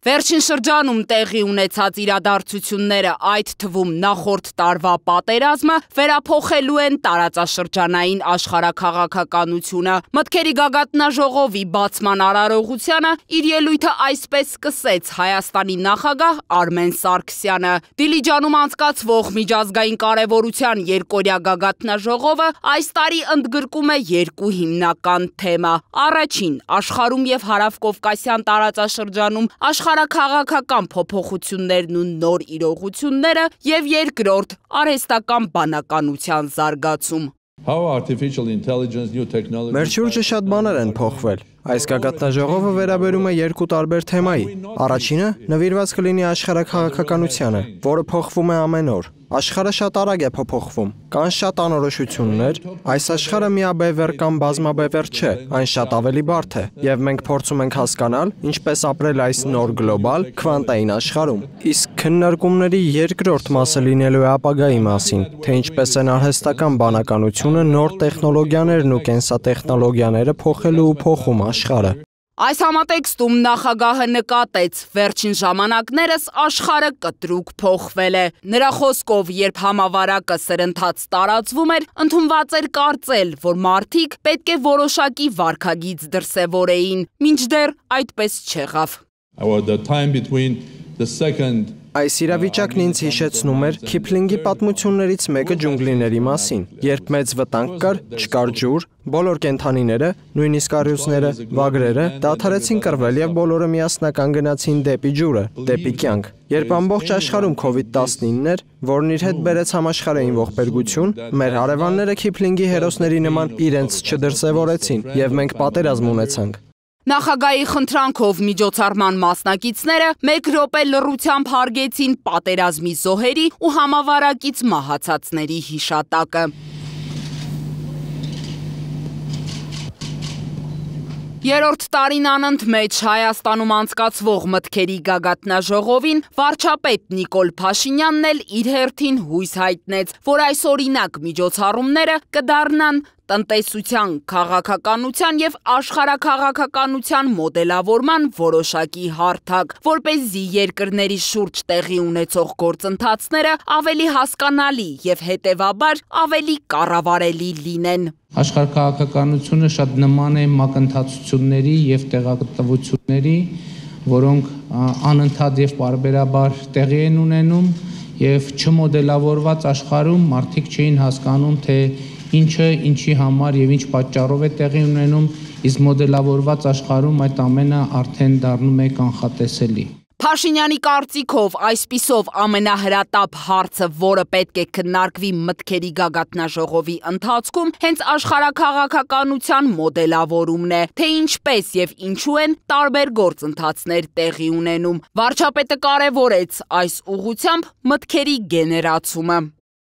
Վերջին շրջանում տեղի ունեցած իրադարձությունները, այդ թվում նախորդ տարվա պատերազմը, վերափոխելու են տարածաշրջանային աշխարհաքաղաքականությունը։ Մտքերի գագաթնաժողովի բացման արարողությանը իր ելույթը այսպես սկսեց Հայաստանի նախագահ Արմեն Սարգսյանը։ Դիլիջանում անցկացվող միջազգային կարևորության երկօրյա գագաթնաժողովը այս տարի ընդգրկում է երկու հիմնական թեմա։ Առաջին, աշխարհում եւ հարավկովկասյան տարածաշրջանում քաղաքական փոփոխություններն ու նոր իրողությունները եւ երկրորդ արհեստական բանականության զարգացում։ Մեր շուրջը շատ բաներ են փոխվել։ Այս գագաթնաժողովը վերաբերում է երկու տարբեր թեմայի։ Առաջինը նվիրված կլինի աշխարհաքաղաքականությանը, որը փոխվում է ամեն օր։ Աշխարհը շատ արագ է փոփոխվում։ Կան շատ անորոշություններ։ Այս աշխարհը միաբևեռ կամ բազմաբևեռ չէ, այն շատ ավելի բարդ է, եւ մենք փորձում ենք հասկանալ, ինչպես ապրել այս նոր գլոբալ քվանտային աշխարհում։ Իսկ քննարկումների երկրորդ մասը լինելու է ապագայի մասին, թե ինչպես են արհեստական բանականությունը, նոր տեխնոլոգիաներն ու կենսատեխնոլոգիաները փոխելու ու փոխում աշխարհը։ Այս համատեքստում նախագահը նկատեց, վերջին ժամանակներս աշխարհը կտրուկ փոխվել է։ Նրա խոսքով, երբ համավարակը սրընթաց տարածվում էր, ընդունված էր կարծել, որ մարդիկ պետք է որոշակի վարքագիծ դրսևորեին, մինչդեռ այդպես չեղավ։ Այս իրավիճակն ինձ հիշեցնում էր Քիփլինգի պատմություններից մեկը ջունգլիների մասին, երբ մեծ վտանգ կար, չկար ջուր, բոլոր կենդանիները, նույնիսկ առյուծները, վագրերը դադարեցին կռվել եւ բոլորը միասնական գնացին դեպի ջուրը, դեպի կյանք։ Երբ ամբողջ աշխարհում COVID-19 էր, որն իր հետ բերեց համաշխարհային ողբերգություն, մեր հարևանները Քիփլինգի հերոսների նման իրենց չդրսևորեցին եւ մենք պատերազմ ունեցանք։ Նախագահի խնդրանքով միջոցառման մասնակիցները մեկ րոպե լռությամբ հարգեցին պատերազմի զոհերի ու համավարակից մահացածների հիշատակը։ Երրորդ տարին անընդմեջ Հայաստանում անցկացվող մտքերի գագաթնաժողովին վարչապետ Նիկոլ Փաշինյանն էլ իր հերթին հույս հայտնեց, որ այս օրինակ միջոցառումները կդառնան տնտեսության, քաղաքականության եւ աշխարհաքաղաքականության մոդելավորման որոշակի հարթակ, որպեսզի երկրների շուրջ տեղի ունեցող գործընթացները ավելի հասկանալի եւ հետեւաբար ավելի կառավարելի լինեն։ Աշխարհաքաղաքականությունը շատ նման է մակընթացությունների եւ տեղատվությունների, որոնք անընդհատ եւ պարբերաբար տեղի են ունենում եւ չմոդելավորված աշխարհում մարդիկ չէին հասկանում, թե ինչը ինչի համար եւ ինչ պատճառով է տեղի ունենում, իսկ մոդելավորված աշխարհում այդ ամենը արդեն դառնում է կանխատեսելի։ Փաշինյանի կարծիքով այսպիսով ամենահրատապ հարցը, որը պետք է քննարկվի մտքերի գագաթնաժողովի ընթացքում, հենց աշխարհաքաղաքականության մոդելավորումն է, թե ինչպես եւ ինչու են տարբեր գործընթացներ տեղի ունենում։ Վարչապետը կարևորեց այս ուղղությամբ մտքերի գեներացումը։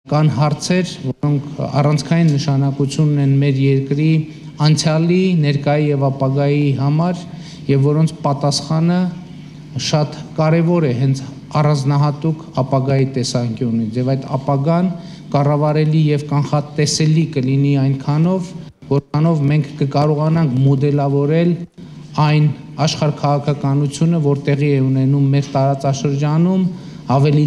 Կան հարցեր, որոնք առանցքային նշանակություն ունեն մեր երկրի անցյալի, ներկայի եւ ապագայի համար, եւ որոնց պատասխանը շատ կարևոր է հենց առանձնահատուկ ապագայի տեսանկյունից, եւ այդ ապագան կառավարելի եւ կանխատեսելի կլինի այնքանով, որքանով մենք կկարողանանք մոդելավորել այն աշխարհաքաղաքականությունը, որ տեղի է ունենում մեր տարածաշրջանում, ավելի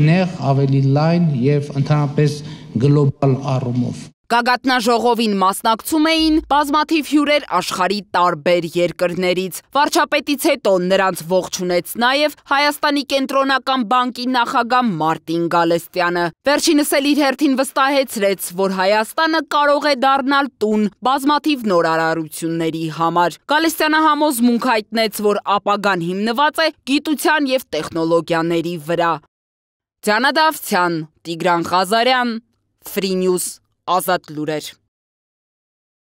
նեղ, ավելի լայն եւ ընդհանրապես գլոբալ առումով։ Գագաթնաժողովին մասնակցում էին բազմաթիվ հյուրեր աշխարհի տարբեր երկրներից։ Վարչապետից հետո նրանց ողջունեց նաև Հայաստանի կենտրոնական բանկի նախագահ Մարտին Գալստյանը։ Վերջինս էլ իր հերթին վստահեցրեց, որ Հայաստանը կարող է դառնալ տուն բազմաթիվ նորարարությունների համար։ Գալստյանը համոզմունք հայտնեց, որ ապագան հիմնված է գիտության եւ տեխնոլոգիաների վրա։ Դիանա Դավթյան, Տիգրան Ղազարյան, Free News, Ազատ լուրեր։